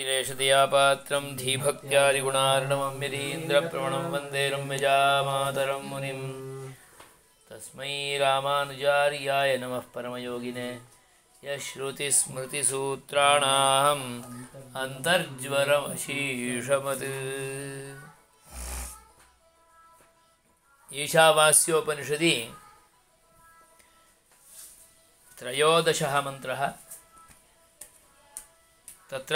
पात्रं धीभक्त्यादिगुणार्णवं यतीन्द्रप्रवणं वन्दे रम्यजामातरं मुनिं तस्मै रामानुजार्याय नमः परमयोगिने यश्रुतिस्मृतिसूत्राणाम् अन्तर्ज्वरमशीषमत्। ईशावास्योपनिषदि त्रयोदशः मन्त्रः। तत्र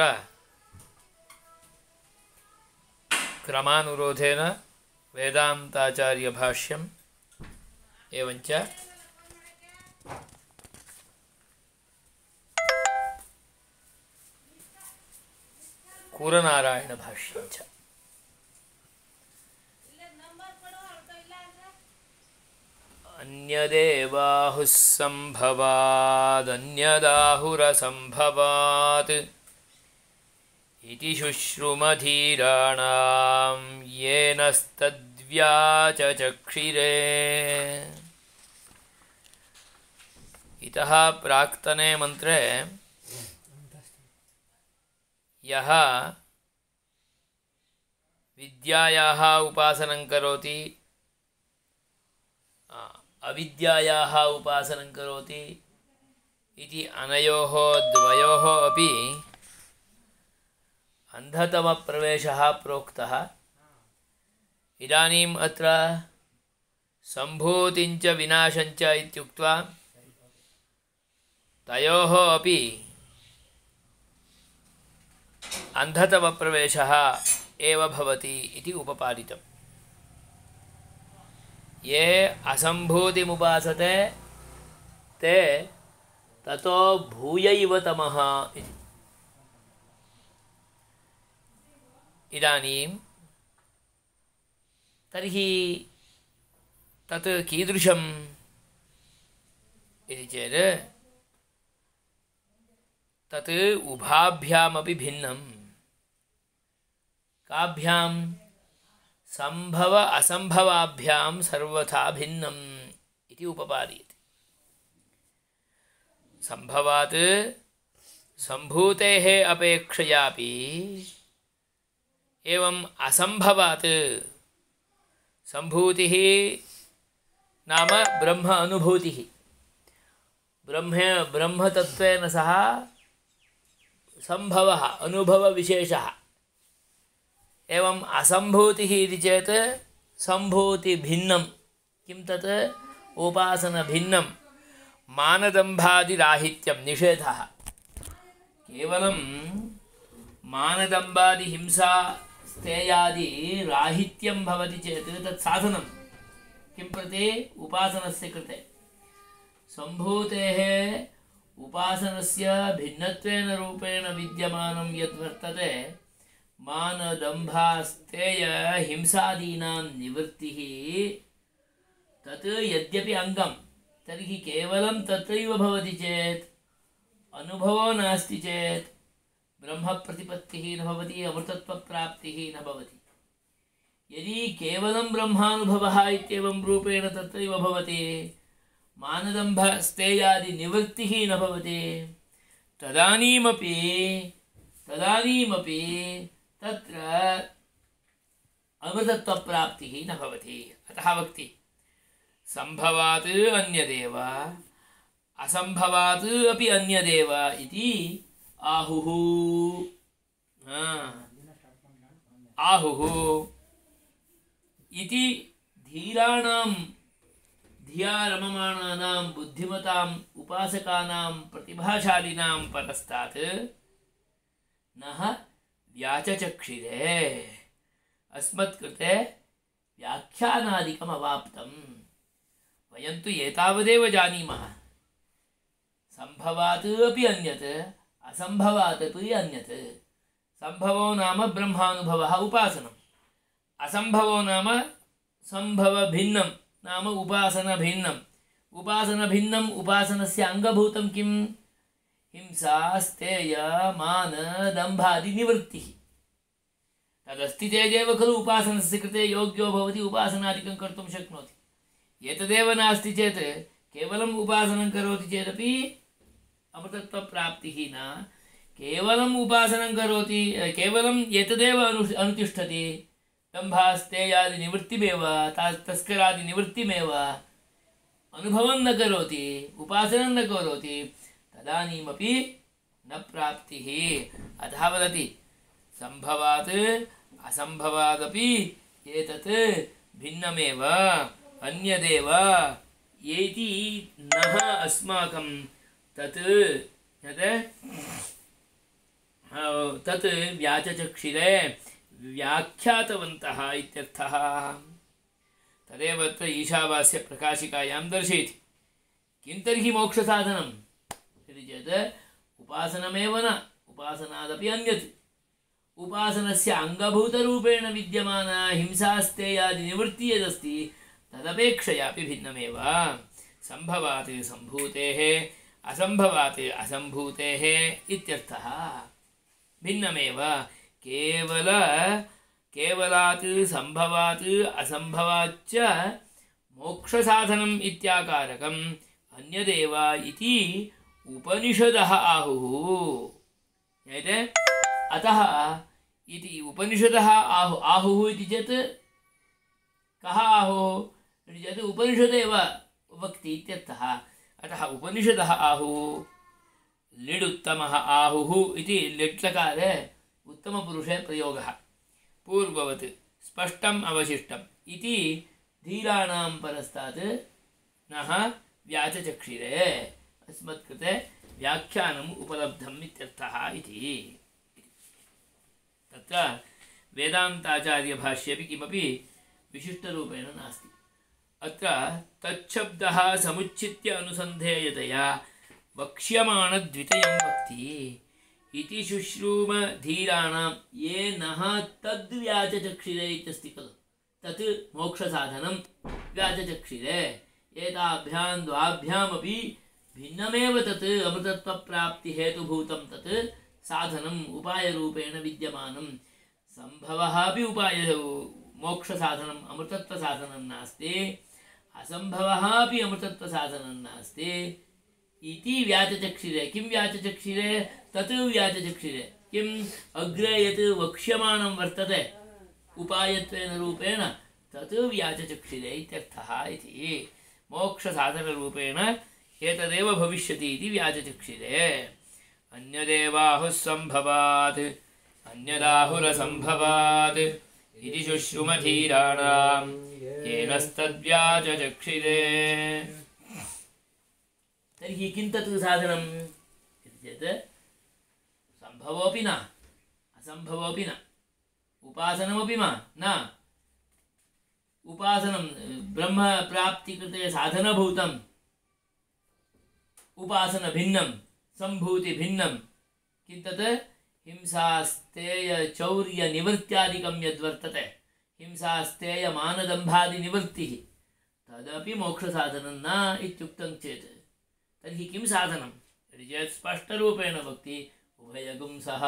क्रमानुरोधेन वेदान्ताचार्यभाष्यम् एवञ्च कूरनारायणभाष्यं च। अन्यदेवाहुः सम्भवादन्यदाहुरसम्भवात् इति शुश्रुमधीराणां येनस्तद्व्याचचक्षिरे। इतः प्राक्तने मंत्रे यः विद्यायाः उपासनं करोति अविद्यायाः उपासनं करोति इति अनयोः द्वयोः अपि अन्धतमप्रवेशः प्रोक्तः। इदानीम् अत्र सम्भूतिञ्च विनाशञ्च इत्युक्त्वा तयोः अपि अन्धतमप्रवेशः एव भवति इति उपपादितम्। ये असम्भूतिमुपासते ते ततो भूयैव तमः इति। इदानीं तर्हि तत् कीदृशम् इति चेत् तत् उभाभ्यामपि भिन्नं। काभ्यां सम्भव असम्भवाभ्यां सर्वथा भिन्नम् इति उपपादयति। सम्भवात् सम्भूतेः अपेक्षयापि एवं असंभवात् सम्भूतिः नाम ब्रह्म अनुभूतिः, ब्रह्मतत्त्वेन सह संभवः अनुभवविशेषः। एवं असंभूतिः इति चेत् सम्भूतिभिन्नं। किं तत्? उपासनभिन्नं, मानदम्भादिराहित्यं, निषेधः। केवलं मानदम्बादिहिंसा स्थेयादि राहित्यं भवति चेत् तत् साधनं किं प्रति? उपासनस्य कृते। सम्भूतेः उपासनस्य भिन्नत्वेन रूपेण विद्यमानं यद्वर्तते मानदम्भास्तेय हिंसादीनां निवृत्तिः, तत् यद्यपि अङ्गं, तर्हि केवलं तत्रैव भवति चेत्, अनुभवो नास्ति चेत् ब्रह्मप्रतिपत्तिः न भवति, अमृतत्वप्राप्तिः न भवति। यदि केवलं ब्रह्मानुभवः इत्येवं रूपेण तत्रैव भवति, मानदम्भस्तेयादिनिवृत्तिः न भवति, तदानीमपि तत्र अमृतत्वप्राप्तिः न भवति। अतः वक्ति सम्भवात् अन्यदेव असम्भवात् अपि अन्यदेव इति आहुः। आहुः इति धीराणां, धिया रममाणानां बुद्धिमताम् उपासकानां प्रतिभाशालिनां परस्तात् नः व्याचचक्षिरे। अस्मत्कृते व्याख्यानादिकम् अवाप्तम्। वयं तु एतावदेव जानीमः, सम्भवात् अपि अन्यत्, असम्भवात् अपि अन्यत्। सम्भवो नाम ब्रह्मानुभवः उपासनम्, असम्भवो नाम सम्भवभिन्नं नाम उपासनभिन्नम्। उपासनभिन्नम् उपासनस्य अङ्गभूतं किं? हिंसा स्थेय मान दम्भादिनिवृत्तिः। तदस्ति चेदेव खलु उपासनस्य कृते योग्यो भवति, उपासनादिकं कर्तुं शक्नोति। एतदेव नास्ति चेत् केवलम् उपासनं करोति चेदपि अमृतत्वप्राप्तिः न। केवलम् उपासनं करोति, केवलं एतदेव अनुतिष्ठति, दम्भास्तेयादिनिवृत्तिमेव तस्करादिनिवृत्तिमेव अनुभवं न करोति, उपासनं न करोति, तदानीमपि न प्राप्तिः। अतः वदति सम्भवात् असम्भवादपि एतत् भिन्नमेव अन्यदेव येति नः अस्माकं तत् व्याचचक्षिरे व्याख्यातवन्तः इत्यर्थः। तदेव अत्र ईशावास्य प्रकाशिकायां दर्शयति। किं तर्हि मोक्षसाधनम् इति चेत् उपासनमेव न, उपासनादपि अन्यत्। उपासनस्य अङ्गभूतरूपेण विद्यमाना हिंसास्तेयादिनिवृत्तिः यदस्ति तदपेक्षयापि भिन्नमेव। सम्भवात् सम्भूतेः असम्भवात् असम्भूतेः इत्यर्थः। भिन्नमेव केवलात् सम्भवात् असम्भवाच्च मोक्षसाधनम् इत्याकारकम् अन्यदेव इति उपनिषदः आहुः। ज्ञायते? अतः इति उपनिषदः आहुः इति चेत् कः आहुः इति चेत् उपनिषदेव वक्ति इत्यर्थः। अतः उपनिषदः आहुः। लिडुत्तमः आहुः इति लिट्लकारे उत्तमपुरुषे प्रयोगः। पूर्ववत् स्पष्टम् अवशिष्टम् इति धीराणां परस्तात् नः व्याचचक्षिरे अस्मत्कृते व्याख्यानम् उपलब्धम् इत्यर्थः इति। तत्र वेदान्ताचार्यभाष्येपि किमपि विशिष्टरूपेण नास्ति। अत्र तच्छब्दः समुच्चित्य अनुसन्धेयतया वक्ष्यमाणद्वितयं वक्ति इति शुश्रूम धीराणां ये नः तद्व्याचचक्षिरे इत्यस्ति खलु, तत् मोक्षसाधनं व्याचचक्षिरे। एताभ्यां द्वाभ्यामपि भिन्नमेव तत् अमृतत्वप्राप्तिहेतुभूतं तत् साधनम् उपायरूपेण विद्यमानं। सम्भवः अपि मोक्षसाधनम् अमृतत्वसाधनं नास्ति, असम्भवः अपि अमृतत्वसाधनं नास्ति इति व्याचचक्षिरे। किं व्याचचक्षिरे? तत् व्याचचक्षिरे। किम् अग्रे यत् वक्ष्यमाणं वर्तते उपायत्वेन रूपेण तत् व्याचचक्षिरे इत्यर्थः इति। मोक्षसाधनरूपेण एतदेव भविष्यति इति व्याचचक्षिरे। अन्यदेवाहुः सम्भवात् अन्यदाहुरसम्भवात् इति शुश्रुमधीराणां येनस्तद्व्याचचक्षिरे। तर्हि किं तत् साधनम् इति चेत् सम्भवोऽपि न असम्भवोऽपि न उपासनमपि न। उपासनं ब्रह्मप्राप्तिकृते साधनभूतम् उपासनभिन्नं सम्भूतिभिन्नं। किं तत्? हिंसास्तेयचौर्यनिवृत्त्यादिकं यद्वर्तते, हिंसास्तेयमानदम्भादिनिवृत्तिः, तदपि मोक्षसाधनं न इत्युक्तं चेत् तर्हि किं साधनं इति चेत् स्पष्टरूपेण वक्ति उभयगुं सः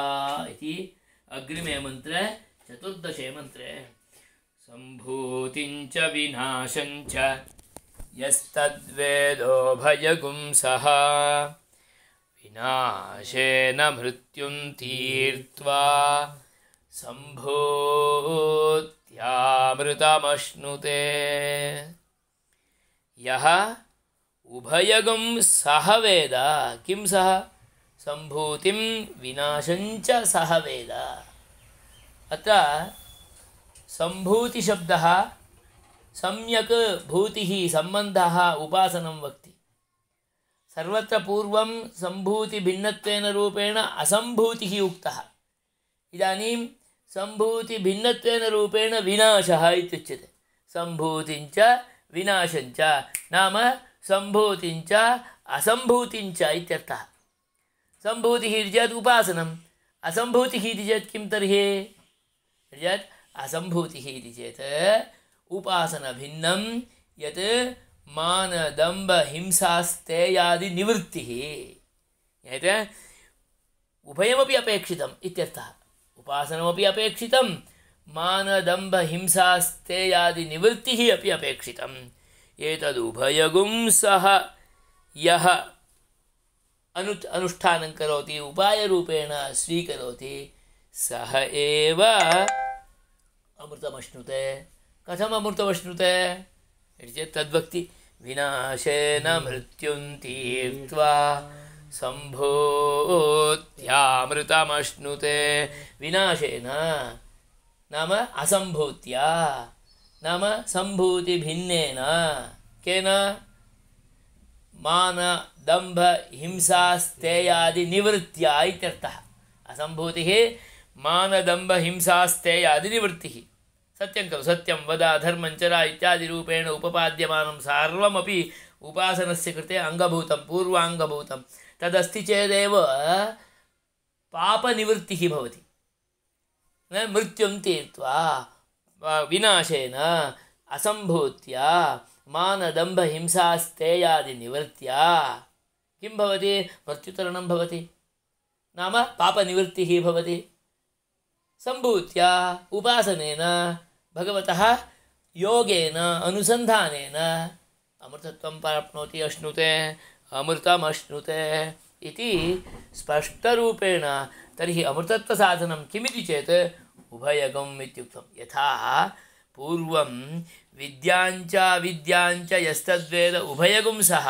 इति अग्रिमे मन्त्रे 14 मन्त्रे। सम्भूतिञ्च विनाशञ्च यस्तद्वेदोभयगुं सः विनाशेन मृत्युं तीर्त्वा सम्भूत्यामृतमश्नुते। यः उभयगुं सः वेद। किं सः? सम्भूतिं विनाशञ्च सः वेद। अत्र सम्भूतिशब्दः सम्यक् भूतिः सम्बन्धः उपासनं वक्ति। सर्वत्र पूर्वं सम्भूतिभिन्नत्वेन रूपेण असम्भूतिः उक्तः। इदानीं सम्भूतिभिन्नत्वेन रूपेण विनाशः इत्युच्यते। सम्भूतिञ्च विनाशञ्च नाम सम्भूतिञ्च असम्भूतिञ्च इत्यर्थः। सम्भूतिः इति चेत् उपासनम्, असम्भूतिः इति चेत् किं तर्हि? यत् असम्भूतिः इति चेत् उपासनभिन्नं यत् मानदम्भहिंसास्तेयादिनिवृत्तिः। यत् उभयमपि अपेक्षितम् इत्यर्थः। उपासनमपि अपेक्षितं, मानदम्भहिंसास्तेयादिनिवृत्तिः अपि अपेक्षितम्। एतदुभयगुं सः यः अनुष्ठानं करोति, उपायरूपेण स्वीकरोति, सः एव अमृतमश्नुते. कथम् अमृतमश्नुते इति चेत् तद्वक्ति विनाशेन मृत्युं तीर्त्वा सम्भूत्यामृतमश्नुते. विनाशेन नाम असम्भूत्या, नाम सम्भूतिभिन्नेन. केन? मान दम्भ हिंसा स्थेयादि निवृत्त्या इत्यर्थः. असम्भूतिः मानदम्भ हिंसा स्थेयादि निवृत्तिः. सत्यं खलु? सत्यं वद, धर्मं चर इत्यादि रूपेण उपपाद्यमानं सर्वमपि उपासनस्य कृते अङ्गभूतं, पूर्वाङ्गभूतं. तदस्ति चेदेव पापनिवृत्तिः भवति. मृत्युं तीर्त्वा विनाशेन असम्भूत्या मानदम्भ हिंसास्तेयादि निवृत्त्या किं भवति? मृत्युतरणं भवति, नाम पापनिवृत्तिः भवति. सम्भूत्या उपासनेन भगवतः योगेन अनुसन्धानेन अमृतत्वं प्राप्नोति. अश्नुते, अमृतमश्नुते इति स्पष्टरूपेण. तर्हि अमृतत्वसाधनं किमिति चेत् उभयगम् इत्युक्तं. यथा पूर्वं विद्याञ्च विद्याञ्च यस्तद्वेद उभयगुं सः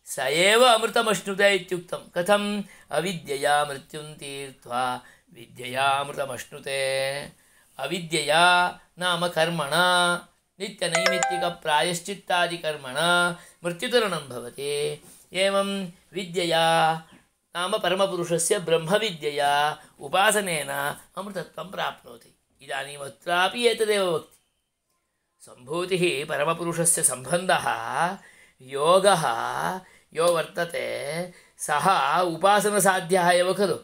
स एव अमृतमश्नुते इत्युक्तं. कथम्? अविद्यया मृत्युं तीर्त्वा विद्यया अमृतमश्नुते. अविद्यया नाम कर्मणा, नित्यनैमित्तिकप्रायश्चित्तादिकर्मणा मृत्युतरणं भवति. एवं विद्यया नाम परमपुरुषस्य ब्रह्मविद्यया उपासनेन अमृतत्वं प्राप्नोति. इदानीम् अत्रापि एतदेव वक्ति. सम्भूतिः परमपुरुषस्य सम्बन्धः योगः यो वर्तते सः उपासनसाध्यः एव खलु.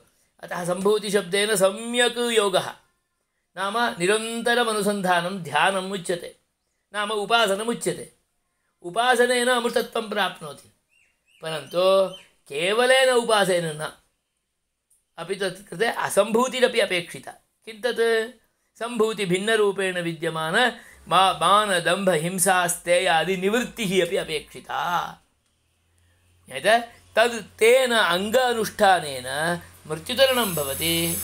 अतः सम्भूतिशब्देन सम्यक् योगः नाम निरन्तरमनुसन्धानं ध्यानम् उच्यते, नाम उपासनमुच्यते. उपासनेन अमृतत्वं प्राप्नोति, परन्तु केवलेन उपासेन न, अपि तत् कृते असम्भूतिरपि अपेक्षिता. किं तत्? सम्भूतिभिन्नरूपेण विद्यमान मानदम्भ हिंसास्तेयादि निवृत्तिः अपि अपेक्षिता. तद् तेन अङ्ग अनुष्ठानेन मृत्युतरणं भवति,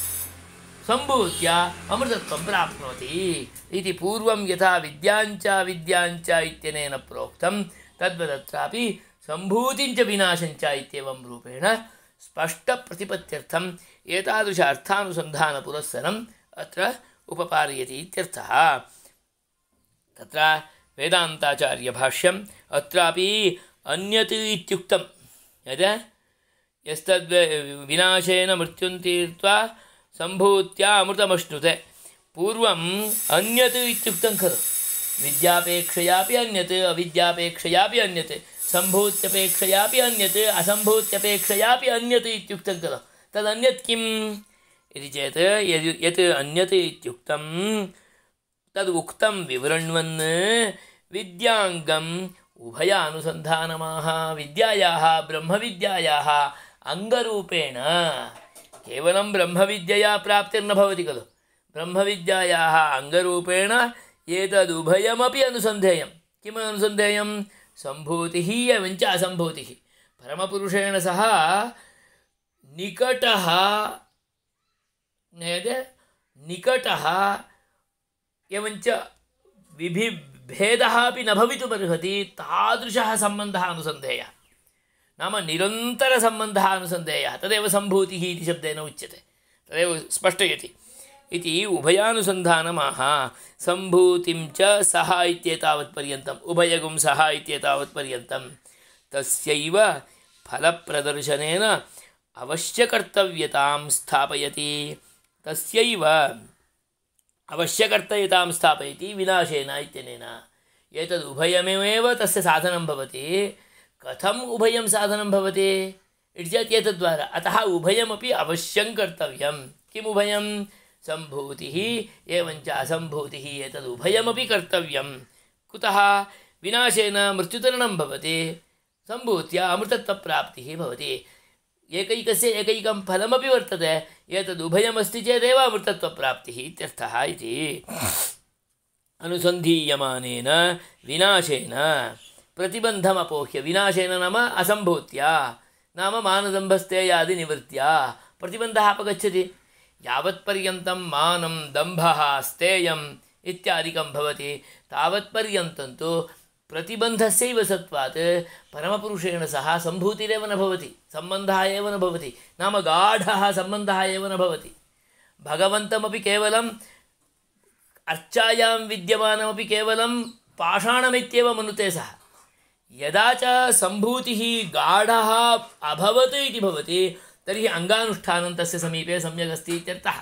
सम्भूत्या अमृतत्वं प्राप्नोति इति. पूर्वं यथा विद्याञ्च विद्याञ्च इत्यनेन प्रोक्तं तद्वदत्रापि सम्भूतिञ्च विनाशञ्च इत्येवं रूपेण स्पष्टप्रतिपत्त्यर्थम् एतादृश अर्थानुसन्धानपुरस्सरम् अत्र उपपार्यते इत्यर्थः. तत्र वेदान्ताचार्यभाष्यम् अत्रापि अन्यत् इत्युक्तं. यस्तद् विनाशेन मृत्युं तीर्त्वा सम्भूत्या अमृतमश्नुते. पूर्वम् अन्यत् इत्युक्तं खलु. विद्यापेक्षयापि अन्यत्, अविद्यापेक्षयापि अन्यत्, सम्भूत्यपेक्षयापि अन्यत्, असम्भूत्यपेक्षयापि अन्यत् इत्युक्तं खलु. तदन्यत् किम् इति चेत् यत् अन्यत् इत्युक्तं तद् उक्तं विवृण्वन् विद्याङ्गम् उभयानुसन्धानमाह. विद्यायाः ब्रह्मविद्यायाः अङ्गरूपेण केवलं ब्रह्मविद्यया प्राप्तिर्न भवति खलु. ब्रह्मविद्यायाः अङ्गरूपेण एतदुभयमपि अनुसन्धेयं. किम् अनुसन्धेयं? सम्भूतिः एवञ्च असम्भूतिः. परमपुरुषेण सह निकटः एवञ्च भेदः अपि न भवितुमर्हति. तादृशः सम्बन्धः अनुसन्धेयः, नाम निरन्तरसम्बन्धः अनुसन्धेयः. तदेव सम्भूतिः इति शब्देन उच्यते, तदेव स्पष्टयति इति. उभयानुसन्धानमाह. सम्भूतिं च सः इत्येतावत्पर्यन्तम्, उभयगुं सः इत्येतावत्पर्यन्तं तस्यैव फलप्रदर्शनेन अवश्यकर्तव्यतां स्थापयति. तस्यैव अवश्यकर्तव्यतां स्थापयति विनाशेन इत्यनेन. एतद् उभयमेव तस्य साधनं भवति. कथम् उभयं साधनं भवति इति चेत् एतद्वारा. अतः उभयमपि अवश्यं कर्तव्यं. किम् उभयं? सम्भूतिः एवञ्च असम्भूतिः. एतदुभयमपि कर्तव्यं. कुतः? विनाशेन मृत्युतरणं भवति, सम्भूत्या अमृतत्वप्राप्तिः भवति. एकैकस्य एकैकं फलमपि वर्तते. एतदुभयमस्ति चेदेव अमृतत्वप्राप्तिः इत्यर्थः इति. अनुसन्धीयमानेन विनाशेन प्रतिबन्धमपोह्य. विनाशेन नाम असम्भूत्या, नाम मानदम्भस्तेयादिनिवृत्त्या प्रतिबन्धः अपगच्छति। यावत्पर्यन्तं मानं दम्भः स्तेयम् इत्यादिकं भवति तावत्पर्यन्तं तु प्रतिबन्धस्यैव सत्त्वात् परमपुरुषेण सह सम्भूतिरेव न भवति, सम्बन्धः एव न भवति, नाम गाढः सम्बन्धः एव न भवति। भगवन्तमपि केवलम् अर्चायां विद्यमानमपि केवलं पाषाणमित्येव मनुते सः। यदा च सम्भूतिः गाढः अभवत् इति भवति तर्हि अङ्गानुष्ठानं तस्य समीपे सम्यक् अस्ति इत्यर्थः।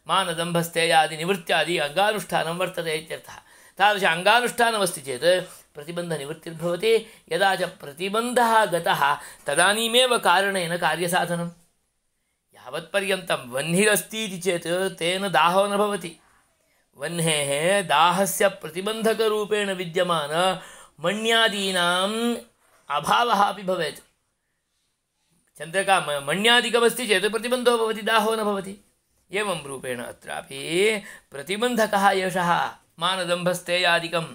मानदम्भस्तेयादि निवृत्त्यादि अङ्गानुष्ठानं वर्तते इत्यर्थः। तादृश अङ्गानुष्ठानमस्ति चेत् प्रतिबन्धनिवृत्तिर्भवति। यदा च प्रतिबन्धः गतः तदानीमेव कारणेन कार्यसाधनं। यावत्पर्यन्तं वह्निरस्ति इति चेत् तेन दाहो न भवति। वह्नेः दाहस्य प्रतिबन्धकरूपेण विद्यमान मण्यादीनाम् अभावः अपि भवेत्। चन्द्रका मण्यादिकमस्ति चेत् प्रतिबन्धो भवति, दाहो न भवति। एवं रूपेण अत्रापि प्रतिबन्धकः एषः मानदम्भस्तेयादिकं।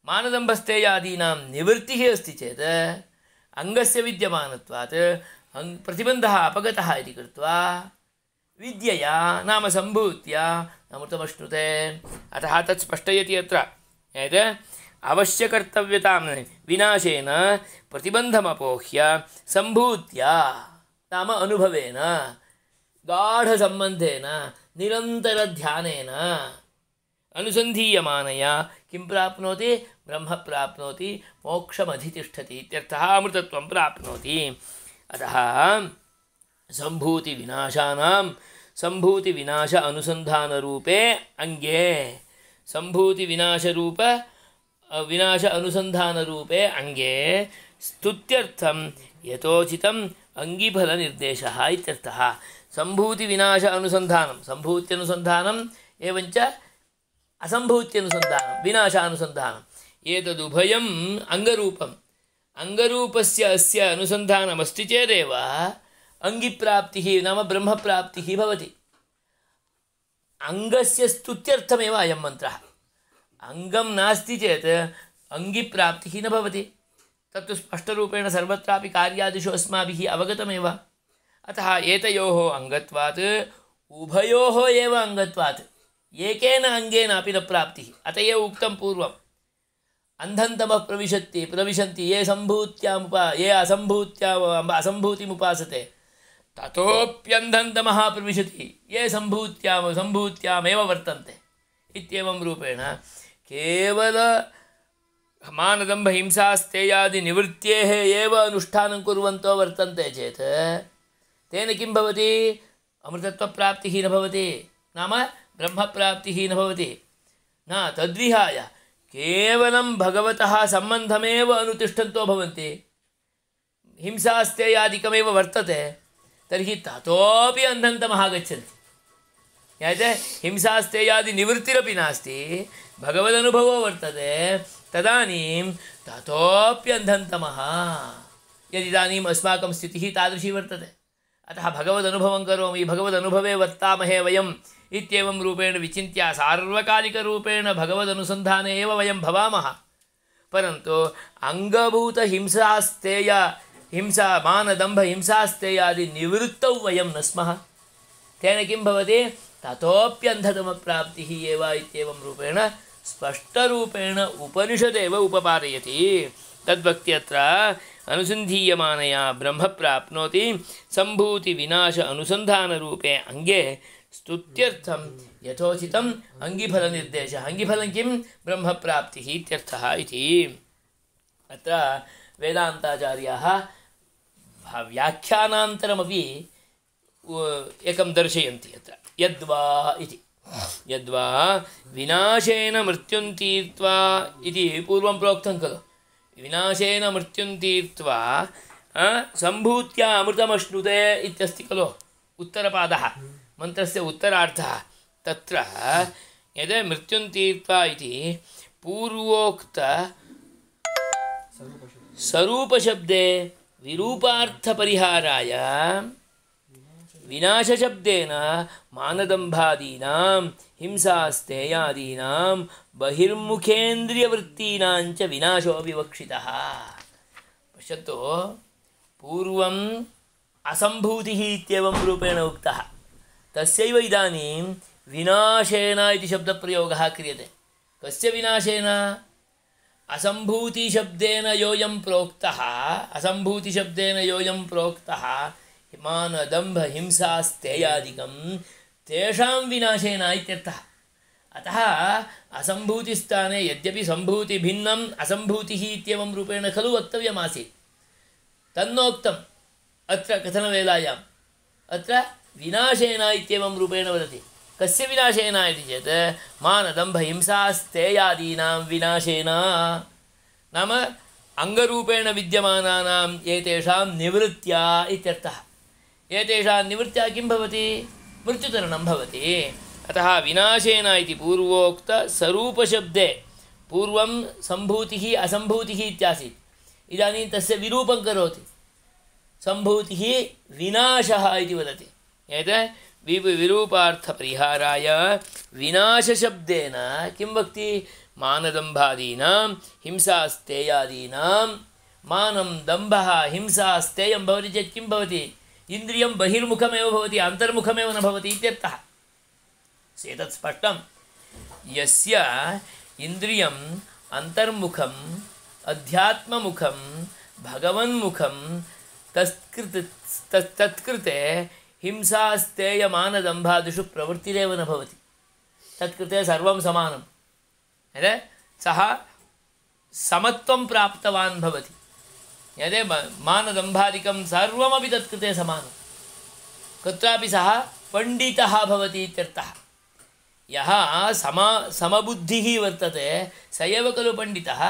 मानदम्भस्तेयादीनां निवृत्तिः अस्ति चेत् अङ्गस्य विद्यमानत्वात् प्रतिबन्धः अपगतः इति कृत्वा विद्यया नाम सम्भूत्या अमृतमश्नुते। अतः तत् स्पष्टयति अत्र यत् अवश्यकर्तव्यतां विनाशेन प्रतिबन्धमपोह्य सम्भूत्या नाम अनुभवेन गाढसम्बन्धेन निरन्तरध्यानेन अनुसन्धीयमानया किं प्राप्नोति? ब्रह्म प्राप्नोति, मोक्षमधितिष्ठति इत्यर्थः, अमृतत्वं प्राप्नोति। अतः सम्भूतिविनाशानां सम्भूतिविनाश अनुसन्धानरूपे अङ्गे सम्भूतिविनाशरूप विनाश अनुसन्धानरूपे अङ्गे स्तुत्यर्थं यथोचितम् अङ्गिफलनिर्देशः इत्यर्थः। सम्भूतिविनाश अनुसन्धानं, सम्भूत्यनुसन्धानम् एवञ्च असम्भूत्यनुसन्धानं, विनाशानुसन्धानम्, एतदुभयम् अङ्गरूपम्। अङ्गरूपस्य अस्य अनुसन्धानमस्ति चेदेव अङ्गिप्राप्तिः नाम ब्रह्मप्राप्तिः भवति। अङ्गस्य स्तुत्यर्थमेव अयं मन्त्रः। अङ्गं नास्ति चेत् अङ्गिप्राप्तिः न भवति। तत्तु स्पष्टरूपेण सर्वत्रापि कार्यादिषु अस्माभिः अवगतमेव। अतः एतयोः अङ्गत्वात् उभयोः एव अङ्गत्वात् एकेन अङ्गेनापि न प्राप्तिः। अत एव उक्तं पूर्वम् अन्धन्तमः प्रविशन्ति ये ये असम्भूतिमुपासते ततोऽप्यन्धन्तमः प्रविशति ये सम्भूत्यामेव वर्तन्ते इत्येवं रूपेण केवल मानदम्भहिंसास्तेयादिनिवृत्तेः एव अनुष्ठानं कुर्वन्तो वर्तन्ते चेत् तेन किं भवति? अमृतत्वप्राप्तिः न भवति, नाम ब्रह्मप्राप्तिः न भवति। न तद्विहाय केवलं भगवतः सम्बन्धमेव अनुतिष्ठन्तो भवन्ति, हिंसास्तेयादिकमेव वर्तते, तर्हि ततोपि अन्धन्तमः गच्छन्ति। याते हिंसास्तेयादिनिवृत्तिरपि नास्ति, भगवदनुभवो वर्तते, तदानीं ततोप्यन्धन्तमः। यदिदानीम् अस्माकं स्थितिः तादृशी वर्तते, अतः भगवदनुभवं करोमि, भगवदनुभवे वर्तामहे वयम् इत्येवं रूपेण विचिन्त्य सार्वकालिकरूपेण भगवदनुसन्धाने एव वयं भवामः। परन्तु हिंसा मानदम्भहिंसास्तेयादिनिवृत्तौ वयं न स्मः। तेन किं भवति? ततोप्यन्धतमप्राप्तिः एव इत्येवं रूपेण स्पष्टरूपेण उपनिषदेव उपपादयति। तद्वक्ति अत्र अनुसन्धीयमानया ब्रह्म प्राप्नोति सम्भूतिविनाश अनुसन्धानरूपे अङ्गे स्तुत्यर्थं यथोचितम् अङ्गिफलनिर्देशः। अङ्गिफलं किं? ब्रह्मप्राप्तिः इत्यर्थः इति। अत्र वेदान्ताचार्याः व्याख्यानान्तरमपि एकं दर्शयन्ति अत्र यद्वा इति। यद्वा विनाशेन मृत्युं तीर्त्वा इति पूर्वं प्रोक्तं खलु। विनाशेन मृत्युं तीर्त्वा सम्भूत्या अमृतमश्नुते इत्यस्ति खलु उत्तरपादः, मन्त्रस्य उत्तरार्थः। तत्र यद् मृत्युं तीर्त्वा इति पूर्वोक्त स्वरूपशब्दे विरूपार्थपरिहाराय विनाशशब्देन मानदम्भादीनां हिंसास्तेयादीनां बहिर्मुखेन्द्रियवृत्तीनां च विनाशो विवक्षितः। पश्यन्तु, पूर्वं असम्भूतिः इत्येवं रूपेण उक्तः तस्यैव इदानीं विनाशेन इति शब्दप्रयोगः क्रियते कस्य विनाशेन असम्भूतिशब्देन योऽयं प्रोक्तः मानदम्भहिंसास्तेयादिकं तेषां विनाशेन इत्यर्थः अतः असम्भूतिस्थाने यद्यपि सम्भूतिभिन्नम् असम्भूतिः इत्येवं रूपेण खलु वक्तव्यमासीत् तन्नोक्तम् अत्र कथनवेलायाम् अत्र विनाशेन इत्येवं रूपेण वदति कस्य विनाशेन इति चेत् मानदम्भहिंसास्तेयादीनां विनाशेन नाम अङ्गरूपेण विद्यमानानाम् एतेषां निवृत्त्या इत्यर्थः एतेषां निवृत्त्या किं भवति मृत्युतरणं भवति अतः विनाशेन इति पूर्वोक्तस्वरूपशब्दे पूर्वं सम्भूतिः असम्भूतिः इत्यासीत् इदानीं तस्य विरूपं करोति सम्भूतिः विनाशः इति वदति एतत् विरूपार्थपरिहाराय विनाशशब्देन किं वक्ति मानदम्भादीनां हिंसास्तेयादीनां मानं दम्भः हिंसास्तेयं भवति चेत् किं भवति इन्द्रियं बहिर्मुखमेव भवति अन्तर्मुखमेव न भवति इत्यर्थः एतत् स्पष्टं यस्य इन्द्रियम् अन्तर्मुखम् अध्यात्ममुखं भगवन्मुखं तत्कृते हिंसास्तेयमानदम्भादिषु प्रवृत्तिरेव न भवति तत्कृते सर्वं समानं सः समत्वं प्राप्तवान् भवति यदि मानदम्भादिकं सर्वमपि तत्कृते समानं कुत्रापि सः पण्डितः भवति इत्यर्थः यः समबुद्धिः वर्तते स एव खलु पण्डितः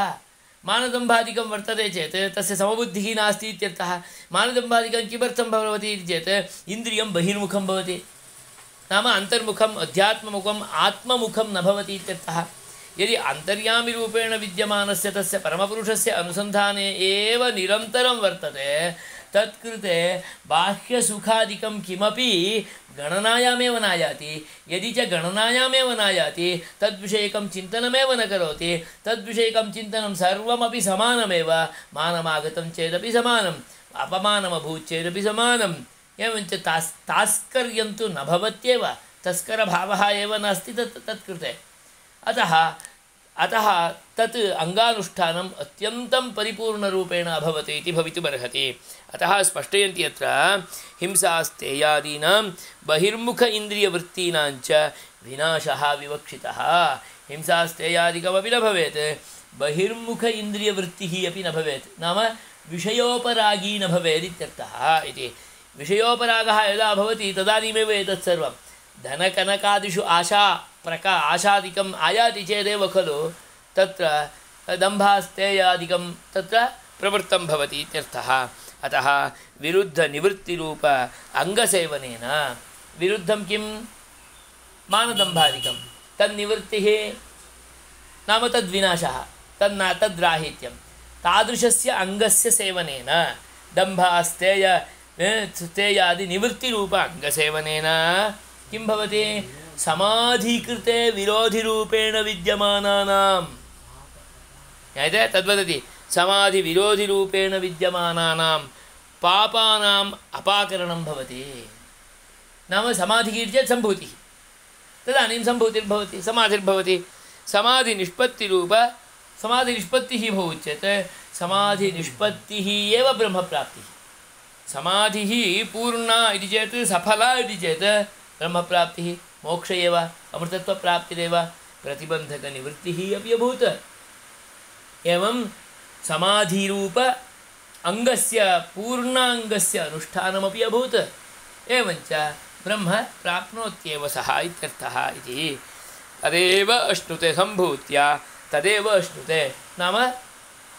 मानदम्भादिकं वर्तते चेत् तस्य समबुद्धिः नास्ति इत्यर्थः मानदम्भादिकं किमर्थं भवति इति चेत् इन्द्रियं बहिर्मुखं भवति नाम अन्तर्मुखम् अध्यात्ममुखम् आत्ममुखं न भवति इत्यर्थः यदि अन्तर्यामिरूपेण विद्यमानस्य तस्य परमपुरुषस्य अनुसन्धाने एव निरन्तरं वर्तते तत्कृते बाह्यसुखादिकं किमपि गणनायामेव नायाति यदि च गणनायामेव नायाति तद्विषयकं चिन्तनमेव न करोति तद्विषयकं चिन्तनं सर्वमपि समानमेव मानमागतं चेदपि समानम् अपमानमभूत् चेदपि समानम् एवञ्च तास्कर्यं तु न भवत्येव तस्करभावः एव नास्ति तत्कृते अतः तत् अङ्गानुष्ठानम् अत्यन्तं परिपूर्णरूपेण अभवत् इति भवितुमर्हति अतः स्पष्टयन्ति अत्र हिंसास्तेयादीनां बहिर्मुख इन्द्रियवृत्तीनां च विनाशः विवक्षितः हिंसास्तेयादिकमपि न भवेत् बहिर्मुख इन्द्रियवृत्तिः अपि न भवेत् नाम विषयोपरागी न भवेत् इत्यर्थः इति विषयोपरागः यदा भवति तदानीमेव एतत् सर्वं धनकनकादिषु आशादिकम् आयाति चेदेव खलु तत्र दम्भास्तेयादिकं तत्र प्रवृत्तं भवति इत्यर्थः अतः विरुद्धनिवृत्तिरूप अङ्गसेवनेन विरुद्धं किं मानदम्भादिकं तन्निवृत्तिः नाम तद्विनाशः तद्राहित्यं तादृशस्य अङ्गस्य सेवनेन दम्भास्तेयादिनिवृत्तिरूप अङ्गसेवनेन किं भवति समाधिकृते विरोधिरूपेण विद्यमानानां ज्ञायते तद्वदति समाधिविरोधिरूपेण विद्यमानानां पापानाम् अपाकरणं भवति नाम समाधिः चेत् सम्भूतिः तदानीं सम्भूतिर्भवति समाधिर्भवति समाधिनिष्पत्तिः भवति चेत् समाधिनिष्पत्तिः एव ब्रह्मप्राप्तिः समाधिः पूर्णा इति चेत् सफला इति चेत् ब्रह्मप्राप्तिः मोक्ष एव अमृतत्वप्राप्तिरेव प्रतिबन्धकनिवृत्तिः अपि अभूत् एवं समाधिरूप अङ्गस्य पूर्णाङ्गस्य अनुष्ठानमपि अभूत् एवञ्च ब्रह्म प्राप्नोत्येव सः इत्यर्थः इति तदेव अश्नुते सम्भूत्या तदेव अश्नुते नाम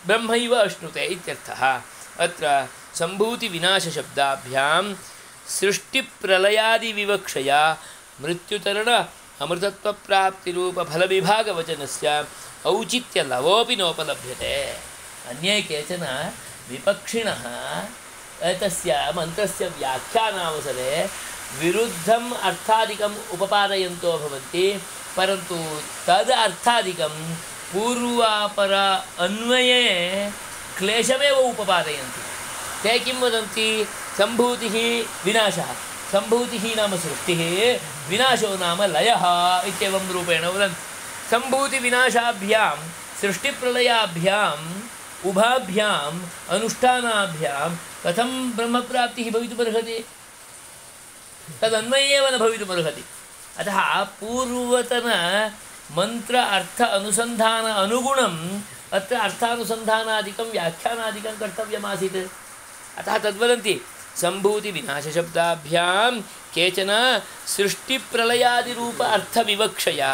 ब्रह्मैव अश्नुते इत्यर्थः अत्र सम्भूतिविनाशशब्दाभ्यां सृष्टिप्रलयादिविवक्षया मृत्युतरण अमृतत्वप्राप्तिरूपफलविभागवचनस्य औचित्यलवोऽपि नोपलभ्यते अन्ये केचन विपक्षिणः एतस्य मन्त्रस्य व्याख्यानावसरे विरुद्धम् अर्थादिकम् उपपादयन्तो भवन्ति परन्तु तद् अर्थादिकं पूर्वापर अन्वये क्लेशमेव उपपादयन्ति ते किं वदन्ति सम्भूतिः विनाशः सम्भूतिः नाम सृष्टिः विनाशो नाम लयः इत्येवं रूपेण वदन्ति सम्भूतिविनाशाभ्यां सृष्टिप्रलयाभ्याम् उभाभ्याम् अनुष्ठानाभ्यां कथं ब्रह्मप्राप्तिः भवितुमर्हति तदन्वये एव न भवितुमर्हति अतः पूर्वतन मंत्र अर्थ अनुसंधान अनुगुणम् अत्र अर्थानुसंधानादिकं व्याख्यानादिकं कर्तव्यमासीत् अतः तद्वदन्ति सम्भूतिविनाशशब्दाभ्यां केचन सृष्टिप्रलयादिरूप अर्थविवक्षया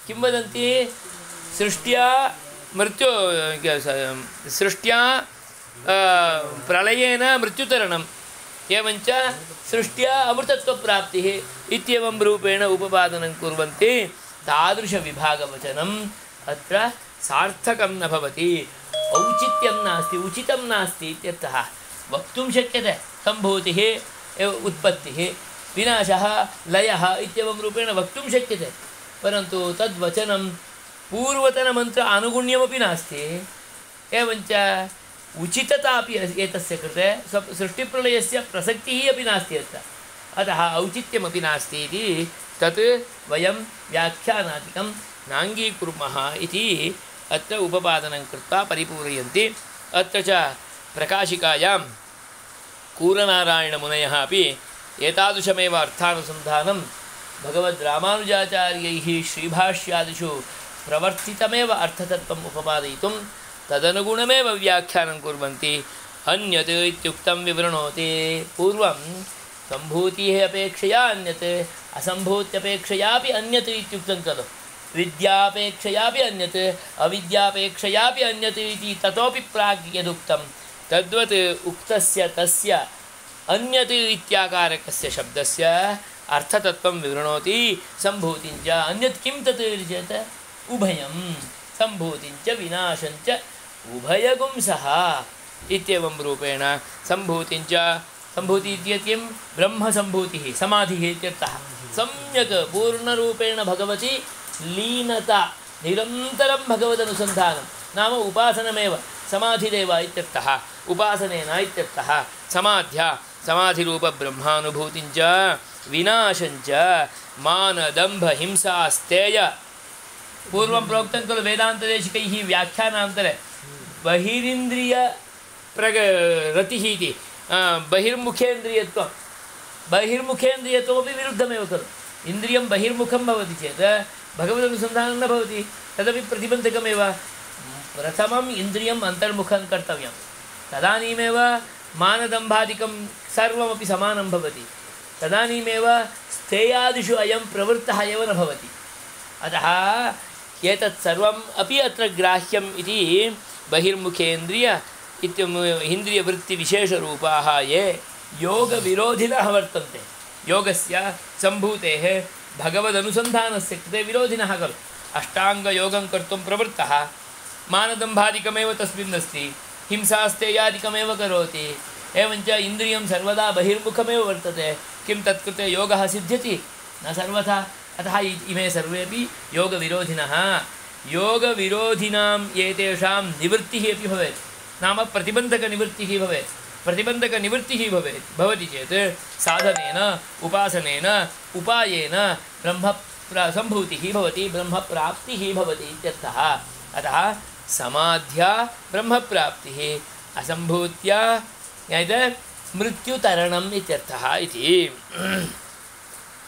किं वदन्ति सृष्ट्या मृत्यु सृष्ट्या प्रलयेन मृत्युतरणम् एवञ्च सृष्ट्या अमृतत्वप्राप्तिः इत्येवं रूपेण उपपादनं कुर्वन्ति तादृशविभागवचनम् अत्र सार्थकं न भवति औचित्यं नास्ति उचितं नास्ति इत्यर्थः वक्तुं शक्यते सम्भूतिः उत्पत्तिः विनाशः लयः इत्येवं रूपेण वक्तुं शक्यते परन्तु तद्वचनं पूर्वतनमन्त्र आनुगुण्यमपि नास्ति एवञ्च उचितता अपि एतस्य कृते सृष्टिप्रलयस्य प्रसक्तिः अपि नास्ति अत्र अतः औचित्यमपि नास्ति इति तत् वयं व्याख्यानादिकं नाङ्गीकुर्मः इति अत्र उपपादनं कृत्वा परिपूरयन्ति अत्र च प्रकाशिकायां कूरनारायणमुनयः अपि एतादृशमेव अर्थानुसन्धानं भगवद्रामानुजाचार्यैः श्रीभाष्यादिषु प्रवर्तितमेव अर्थतत्त्वम् उपपादयितुं तदनुगुणमेव व्याख्यानं कुर्वन्ति अन्यत् इत्युक्तं विवृणोति पूर्वं सम्भूतिः अपेक्षया अन्यत् असम्भूत्यपेक्षयापि अन्यत् इत्युक्तं खलु विद्यापेक्षयापि अन्यत् अविद्यापेक्षयापि अन्यत् इति ततोपि प्राग् यदुक्तं तद्वत् उक्तस्य तस्य अन्यत् इत्याकारकस्य शब्दस्य अर्थतत्त्वं विवृणोति सम्भूतिञ्च अन्यत् किं तत् चेत् उभयं सम्भूतिञ्च विनाशञ्च उभयगुं सः इत्येवं रूपेण सम्भूतिञ्च सम्भूति इत्येतत् किं ब्रह्मसम्भूतिः समाधिः इत्यर्थः सम्यक् पूर्णरूपेण भगवति लीनता निरन्तरं भगवदनुसन्धानं नाम उपासनमेव समाधिरेव इत्यर्थः उपासनेन इत्यर्थः समाध्या समाधिरूपब्रह्मानुभूतिञ्च विनाशञ्च मानदम्भहिंसास्तेय पूर्वं प्रोक्तं खलु वेदान्तदेशिकैः व्याख्यानान्तरे बहिरिन्द्रियरतिः इति बहिर्मुखेन्द्रियत्वमपि विरुद्धमेव खलु इन्द्रियं बहिर्मुखं भवति चेत् भगवदनुसन्धानं न भवति तदपि प्रतिबन्धकमेव प्रथमम् इन्द्रियम् अन्तर्मुखं कर्तव्यं तदानीमेव मानदम्भादिकं सर्वमपि समानं भवति तदानीमेव स्थेयादिषु अयं प्रवृत्तः एव न भवति अतः एतत् सर्वम् अपि अत्र ग्राह्यम् इति बहिर्मुखेन्द्रिय इन्द्रियवृत्तिविशेषरूपाः ये योगविरोधिनः वर्तन्ते योगस्य सम्भूतेः भगवदनुसन्धानस्य कृते विरोधिनः खलु अष्टाङ्गयोगं कर्तुं प्रवृत्तः मानदम्भादिकमेव तस्मिन् अस्ति हिंसास्तेयादिकमेव करोति एवञ्च इन्द्रियं सर्वदा बहिर्मुखमेव वर्तते किं तत्कृते योगः सिद्ध्यति न सर्वथा अतः इमे सर्वेपि योगविरोधिनः योगविरोधिनां एतेषां निवृत्तिः अपि भवेत् नाम प्रतिबन्धकनिवृत्तिः भवेत् प्रतिबन्धकनिवृत्तिः भवति चेत् साधनेन उपासनेन उपायेन ब्रह्मसम्भूतिः भवति ब्रह्मप्राप्तिः भवति इत्यर्थः अतः समाध्या ब्रह्मप्राप्तिः असम्भूत्या यत् मृत्युतरणम् इत्यर्थः इति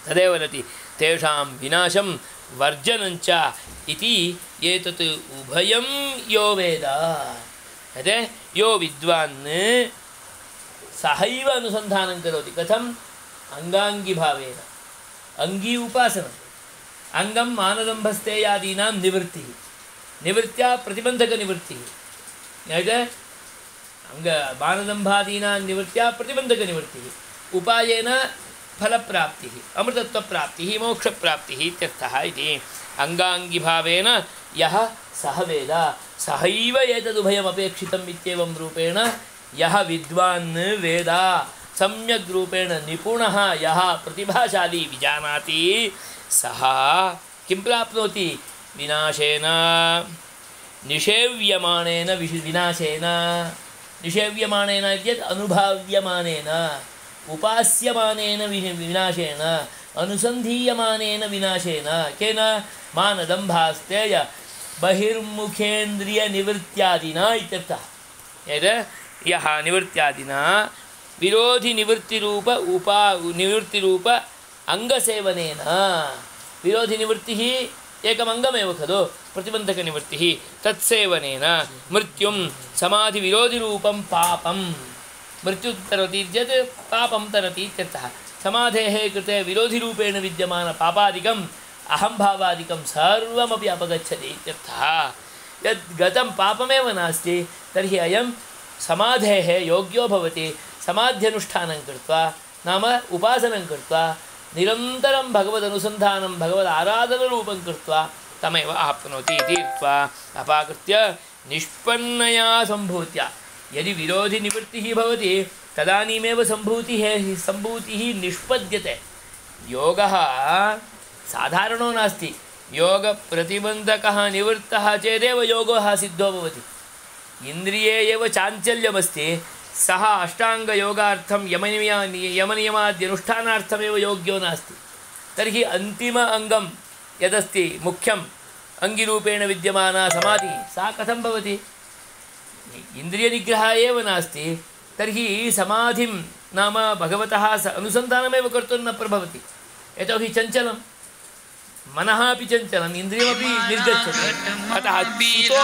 तदेव वदति तेषां विनाशं वर्जनञ्च इति एतत् उभयं यो वेद यत् यो विद्वान् सहैव अनुसन्धानं करोति कथम् अङ्गाङ्गिभावेन अङ्गी उपासनम् अङ्गं मानदम्भस्तेयादीनां निवृत्तिः निवृत्त्या प्रतिबन्धकनिवृत्तिः यत् मानदम्भादीनां निवृत्त्या प्रतिबन्धकनिवृत्तिः उपायेन फलप्राप्तिः अमृतत्वप्राप्तिः मोक्षप्राप्तिः इत्यर्थः इति अङ्गाङ्गिभावेन यः सः वेद सहैव एतदुभयमपेक्षितम् इत्येवं रूपेण यः विद्वान् वेद सम्यग् रूपेण निपुणः यः प्रतिभाशाली विजानाति सः किं प्राप्नोति विनाशेन निषेव्यमाणेन विनाशेन निषेव्यमानेन चेत् अनुभाव्यमानेन उपास्यमानेन विनाशेन अनुसन्धीयमानेन विनाशेन केन मानदम्भास्तेय बहिर्मुखेन्द्रियनिवृत्त्यादिना इत्यर्थः यः निवृत्त्यादिना विरोधिनिवृत्तिरूप निवृत्तिरूप अंगसेवनेन विरोधिनिवृत्तिः एकमङ्गमेव खलु प्रतिबन्धकनिवृत्तिः तत्सेवनेन मृत्युं समाधिविरोधिरूपं पापं मृत्यु तरति चेत् पापं तरति इत्यर्थः समाधेः कृते विरोधिरूपेण विद्यमानपापादिकम् अहंभावादिकं सर्वमपि अपगच्छति इत्यर्थः यद् गतं पापमेव नास्ति तर्हि अयं समाधेः योग्यो भवति समाध्यनुष्ठानं कृत्वा नाम उपासनं कृत्वा निरन्तरं भगवदनुसन्धानं भगवदाराधनरूपं कृत्वा तमेव आप्नोति इति उक्त्वा अपाकृत्य निष्पन्नया सम्भूत्या यदि विरोधिनिवृत्तिः भवति तदानीमेव सम्भूतिः निष्पद्यते योगः साधारणो नास्ति योगप्रतिबन्धकः निवृत्तः चेदेव योगः सिद्धो भवति इन्द्रिये एव चाञ्चल्यमस्ति सः अष्टाङ्गयोगार्थं यमनियमाद्यनुष्ठानार्थमेव योग्यो नास्ति तर्हि अन्तिम अङ्गं यदस्ति मुख्यम् अङ्गिरूपेण विद्यमाना समाधिः सा कथं भवति इन्द्रियनिग्रहः एव नास्ति तर्हि समाधिं नाम भगवतः अनुसन्धानमेव कर्तुं न प्रभवति यतोहि चञ्चलं मनः अपि चञ्चलम् इन्द्रियमपि निर्गच्छति अतः चितो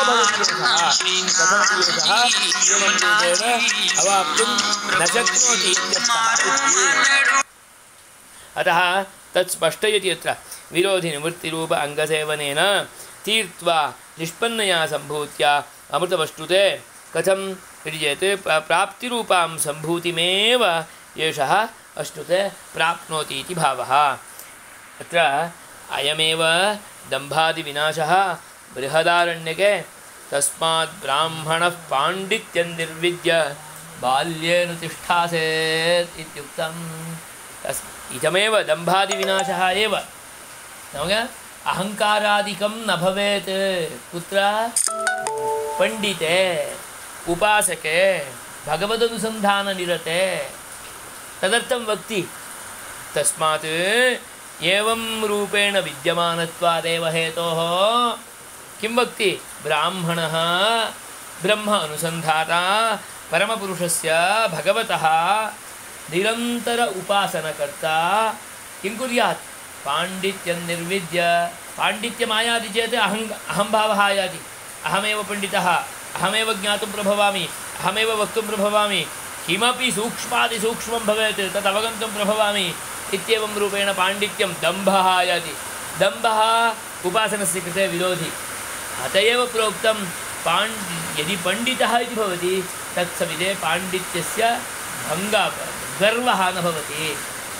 अवाप्तुं न शक्नोति अतः तत् स्पष्टयति यत्र विरोधिनिवृत्तिरूप अङ्गसेवनेन तीर्त्वा निष्पन्नया सम्भूत्या अमृतमश्नुते कथं इति चेत् प्राप्तिरूपां सम्भूतिमेव एषः अश्नुते प्राप्नोति इति भावः अत्र अयमेव दम्भादिविनाशः बृहदारण्यके तस्मात् ब्राह्मणः पाण्डित्यं निर्विद्य बाल्येन तिष्ठासेत् इत्युक्तम् इदमेव दम्भादिविनाशः एव अहङ्कारादिकं न भवेत् कुत्र पण्डिते उपासके भगवदनुसन्धाननिरते तदर्थं वक्ति तस्मात् एवं रूपेण विद्यमानत्वादेव हेतोः किं वक्ति ब्राह्मणः ब्रह्म अनुसन्धाता परमपुरुषस्य भगवतः निरन्तर उपासनकर्ता किं कुर्यात् पाण्डित्यं निर्विद्य पाण्डित्यमायाति चेत् अहंभावः आयाति अहमेव पण्डितः अहमेव ज्ञातुं प्रभवामि अहमेव वक्तुं प्रभवामि किमपि सूक्ष्मातिसूक्ष्मं भवेत् तत् अवगन्तुं प्रभवामि इत्येवं रूपेण पाण्डित्यं दम्भः आयाति दम्भः उपासनस्य कृते विरोधि अत एव प्रोक्तं यदि पण्डितः इति भवति तत्सविधे पाण्डित्यस्य गर्वः न भवति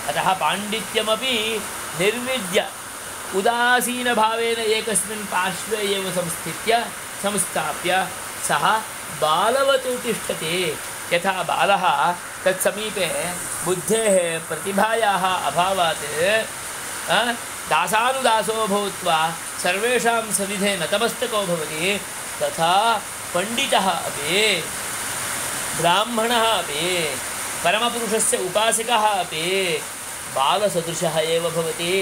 अतः पाण्डित्यमपि निर्विद्य उदासीनभावेन एकस्मिन् पार्श्वे एव संस्थाप्य सः बालवत् तिष्ठति यथा बालः तत्समीपे बुद्धेः प्रतिभायाः अभावात् दासानुदासो भूत्वा सर्वेषां सविधे नतमस्तको भवति तथा पण्डितः अपि ब्राह्मणः अपि परमपुरुषस्य उपासकः अपि बालसदृशः एव भवति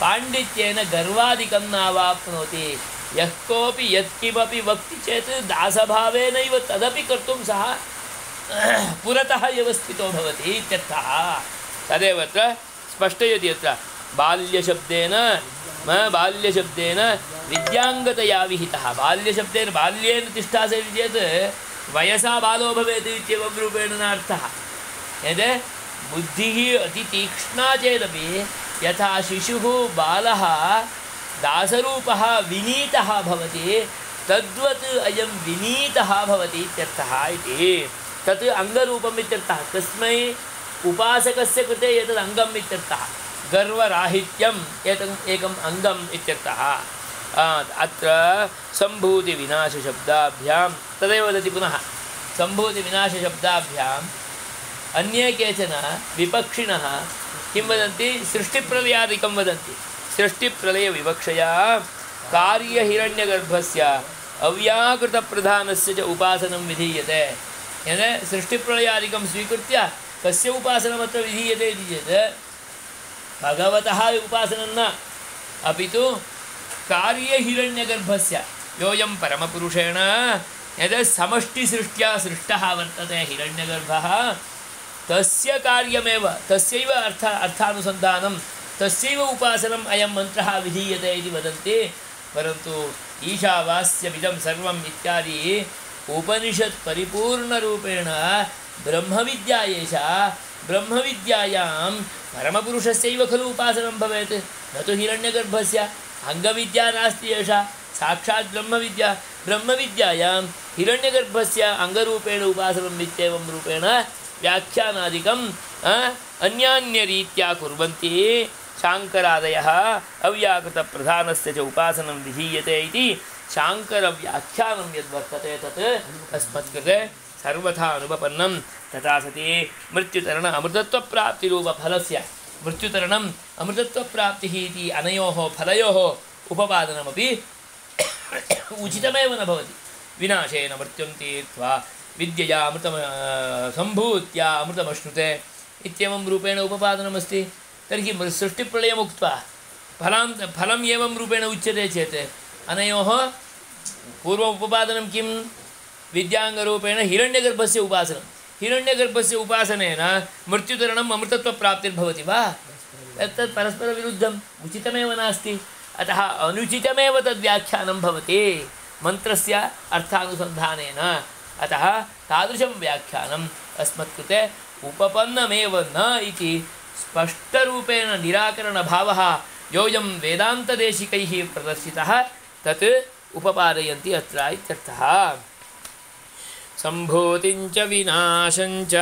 पाण्डित्येन गर्वादिकं नावाप्नोति यः कोऽपि यत्किमपि वक्ति चेत् दासभावेनैव तदपि कर्तुं सः पुरतः एव स्थितो भवति इत्यर्थः तदेव अत्र स्पष्टयति यत्र बाल्यशब्देन विद्याङ्गतया विहितः बाल्यशब्देन बाल्येन तिष्ठासेत् चेत् वयसा बालो भवेत् इत्येवं रूपेण नार्थः यद् बुद्धिः अतितीक्ष्णा चेदपि यथा शिशुः बालः दासरूपः विनीतः भवति तद्वत् अयं विनीतः भवति इत्यर्थः इति तत् अङ्गरूपम् इत्यर्थः तस्मै उपासकस्य कृते एतद् अङ्गम् इत्यर्थः गर्वराहित्यम् एकम् अङ्गम् इत्यर्थः अत्र सम्भूतिविनाशशब्दाभ्यां तदेव वदति पुनः सम्भूतिविनाशशब्दाभ्याम् अन्ये केचन विपक्षिणः किं वदन्ति सृष्टिप्रलयादिकं वदन्ति सृष्टिप्रलयविवक्षया कार्यहिरण्यगर्भस्य अव्याकृतप्रधानस्य च उपासनं विधीयते सृष्टिप्रलयादिकं स्वीकृत्य कस्य उपासनमत्र विधीयते इति चेत् भगवतः उपासनं न, अपि तु कार्यहिरण्यगर्भस्य योऽयं परमपुरुषेण यद् समष्टिसृष्ट्या सृष्टः वर्तते हिरण्यगर्भः, तस्य कार्यमेव, तस्यैव अर्थानुसन्धानं, तस्यैव उपासनम् अयं मन्त्रः विधीयते इति वदन्ति। परन्तु ईशावास्यमिदं सर्वम् इत्यादि उपनिषत् परिपूर्णरूपेण ब्रह्मविद्या एषा, ब्रह्मविद्यायां परमपुरुषस्यैव खलु उपासनं भवेत्, न तु हिरण्यगर्भस्य। अङ्गविद्या नास्ति एषा, साक्षात् ब्रह्मविद्या। ब्रह्मविद्यायां हिरण्यगर्भस्य अङ्गरूपेण उपासनम् इत्येवं रूपेण व्याख्यानादिकम् अन्यान्यरीत्या कुर्वन्ति शाङ्करादयः। अव्याकृतप्रधानस्य च उपासनं विधीयते इति शाङ्करव्याख्यानं यद्वर्तते तत् अस्मत्कृते सर्वथा अनुपपन्नं। तथा सति मृत्युतरण अमृतत्वप्राप्तिरूपफलस्य मृत्युतरणम् अमृतत्वप्राप्तिः इति अनयोः फलयोः उपपादनमपि उचितमेव न भवति। विनाशेन मृत्युं तीर्त्वा विद्यया अमृतं सम्भूत्या अमृतमश्नुते इत्येवं रूपेण उपपादनमस्ति। तर्हि सृष्टिप्रलयम् उक्त्वा फलम् एवं रूपेण उच्यते चेत् अनयोः पूर्वम् उपपादनं किं? विद्याङ्गरूपेण हिरण्यगर्भस्य उपासनं। हिरण्यगर्भस्य उपासनेन मृत्युतरणम् अमृतत्वप्राप्तिर्भवति वा? तत् परस्परविरुद्धम्, उचितमेव नास्ति। अतः अनुचितमेव तद्व्याख्यानं भवति मन्त्रस्य अर्थानुसन्धानेन। अतः तादृशं व्याख्यानम् अस्मत्कृते उपपन्नमेव न इति स्पष्टरूपेण निराकरणभावः योऽयं वेदान्तदेशिकैः प्रदर्शितः तत् उपपादयन्ति अत्र इत्यर्थः। सम्भूतिञ्च विनाशञ्च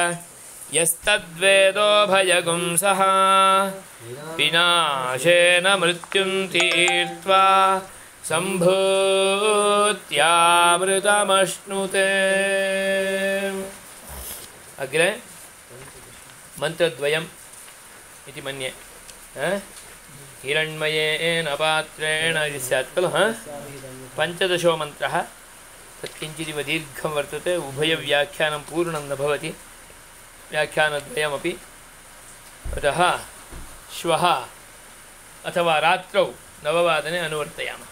यस्तद्वेदोभयगुं सः विनाशेन मृत्युं तीर्त्वा सम्भूत्यामृतमश्नुते। अग्रे मन्त्रद्वयम् इति मन्ये। हिरण्मयेन पात्रेण इति स्यात् खलु। पञ्चदशो मन्त्रः, तत्किञ्चिदिव दीर्घं वर्तते, उभयव्याख्यानं पूर्णं न भवति, व्याख्यानद्वयमपि। अतः श्वः अथवा रात्रौ 9 अनुवर्तयामः।